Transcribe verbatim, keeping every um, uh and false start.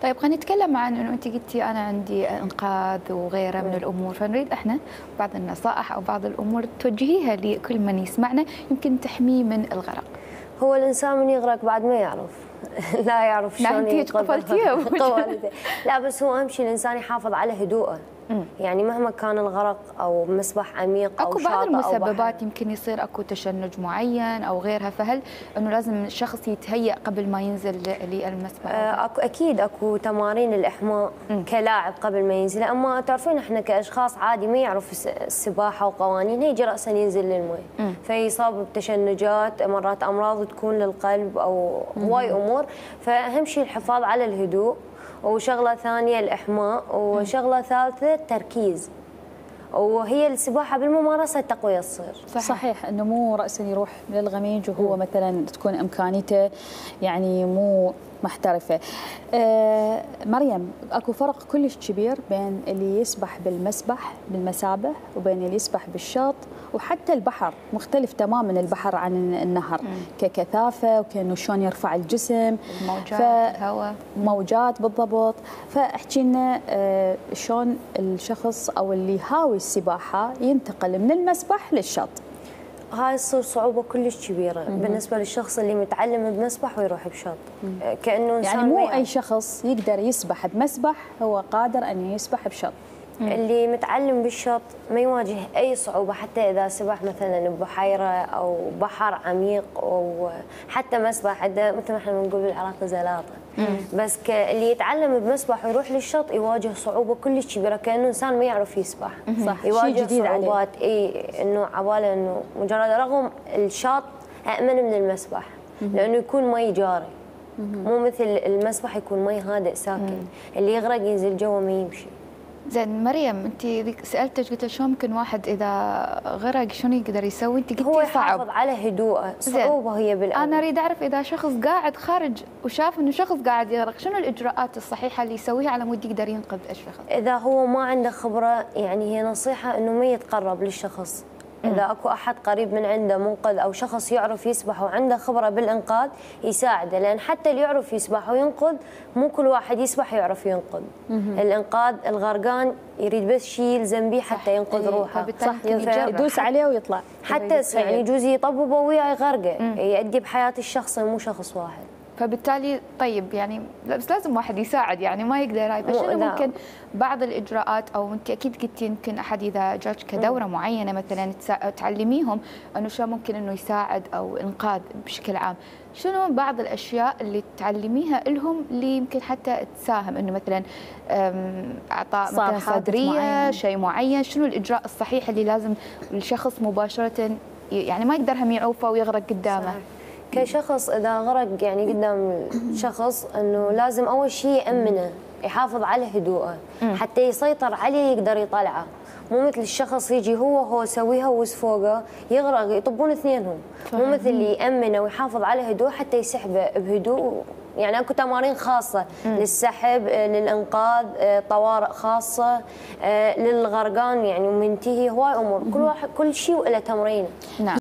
طيب خلينا نتكلم عن انه انت قلتي انا عندي انقاذ وغيره من الامور، فنريد احنا بعض النصائح او بعض الامور توجهيها لكل من يسمعنا يمكن تحميه من الغرق. هو الانسان من يغرق بعد ما يعرف لا يعرف شلون ينقذ. لا بس هو اهم شيء الانسان يحافظ على هدوءه. مم. يعني مهما كان الغرق او مسبح عميق او اكو شاطئ بعض المسببات أو يمكن يصير اكو تشنج معين او غيرها، فهل انه لازم الشخص يتهيأ قبل ما ينزل للمسبح؟ آه اكو اكيد اكو تمارين الاحماء مم. كلاعب قبل ما ينزل، اما تعرفين احنا كاشخاص عادي ما يعرف السباحه وقوانينها يجي راسا ينزل للماء فيصاب بتشنجات، مرات امراض تكون للقلب او هواي امور، فاهم شيء الحفاظ على الهدوء، وشغله ثانيه الاحماء، وشغله ثالثه التركيز، وهي السباحه بالممارسه التقويه تصير. صحيح, صحيح انه مو راسا يروح للغميج وهو م. مثلا تكون امكانيته يعني مو محترفه. آه مريم، اكو فرق كلش كبير بين اللي يسبح بالمسبح بالمسابح وبين اللي يسبح بالشاط، وحتى البحر مختلف تماما البحر عن النهر مم. ككثافه وكانه شلون يرفع الجسم، موجات الهواء، موجات بالضبط. فاحكي لنا آه شلون الشخص او اللي هاوي السباحه ينتقل من المسبح للشاط. هاي تصير صعوبه كلش كبيره مم. بالنسبه للشخص اللي متعلم بمسبح ويروح بشاط، كانه يعني مو اي شخص يقدر يسبح بمسبح هو قادر ان يسبح بشاط. مم. اللي متعلم بالشاط ما يواجه اي صعوبه، حتى اذا سبح مثلا ببحيره او بحر عميق او حتى مسبح عنده مثل ما احنا بنقول بالعراق زلاطه. بس اللي يتعلم بمسبح ويروح للشط يواجه صعوبه كلش كبيره، كانه انسان ما يعرف يسبح. صح، يواجه صعوبات اي انه عباله انه مجرد رغم الشاط امن من المسبح لانه يكون مي جاري، مو مثل المسبح يكون مي هادئ ساكن، اللي يغرق ينزل جوا ما يمشي. زين مريم، انت سالتك قلت شو ممكن واحد اذا غرق شنو يقدر يسوي؟ انت قلتي هو صعب. يحافظ على هدوءه، صعوبه هي بالأول. انا اريد اعرف اذا شخص قاعد خارج وشاف انه شخص قاعد يغرق شنو الاجراءات الصحيحه اللي يسويها على مود يقدر ينقذ الشخص؟ اذا هو ما عنده خبره يعني هي نصيحه انه ما يتقرب للشخص. إذا اكو أحد قريب من عنده منقذ أو شخص يعرف يسبح وعنده خبرة بالإنقاذ يساعده، لأن حتى اللي يعرف يسبح وينقذ مو كل واحد يسبح يعرف ينقذ. الإنقاذ الغرقان يريد بس شيء يلزم به حتى ينقذ روحه، صح، يدوس عليه ويطلع، حتى يعني يجوز يطببه وياه يغرقه، يؤدي بحياة الشخص مو شخص واحد. فبالتالي طيب يعني بس لازم واحد يساعد، يعني ما يقدر هاي، فشنو ممكن بعض الاجراءات او انت اكيد قلتي يمكن احد اذا جاك كدوره م. معينه مثلا تعلميهم انه شو ممكن انه يساعد او انقاذ بشكل عام، شنو بعض الاشياء اللي تعلميها لهم اللي يمكن حتى تساهم انه مثلا اعطاء مثلا صدريه شيء معين، شنو الاجراء الصحيح اللي لازم الشخص مباشره يعني ما يقدر هم يعوفه ويغرق قدامه؟ صحيح. كشخص اذا غرق يعني قدام شخص انه لازم اول شيء يامنه، يحافظ على هدوءه حتى يسيطر عليه يقدر يطلعه، مو مثل الشخص يجي هو هو يسويها ويس فوقه يغرق يطبون اثنينهم، مو مثل اللي يامنه ويحافظ على هدوء حتى يسحبه بهدوء. يعني اكو تمارين خاصه مم. للسحب، للانقاذ، طوارئ خاصه للغرقان، يعني ومنتهي هواي امور، كل واحد كل شيء وله تمرينه. نعم.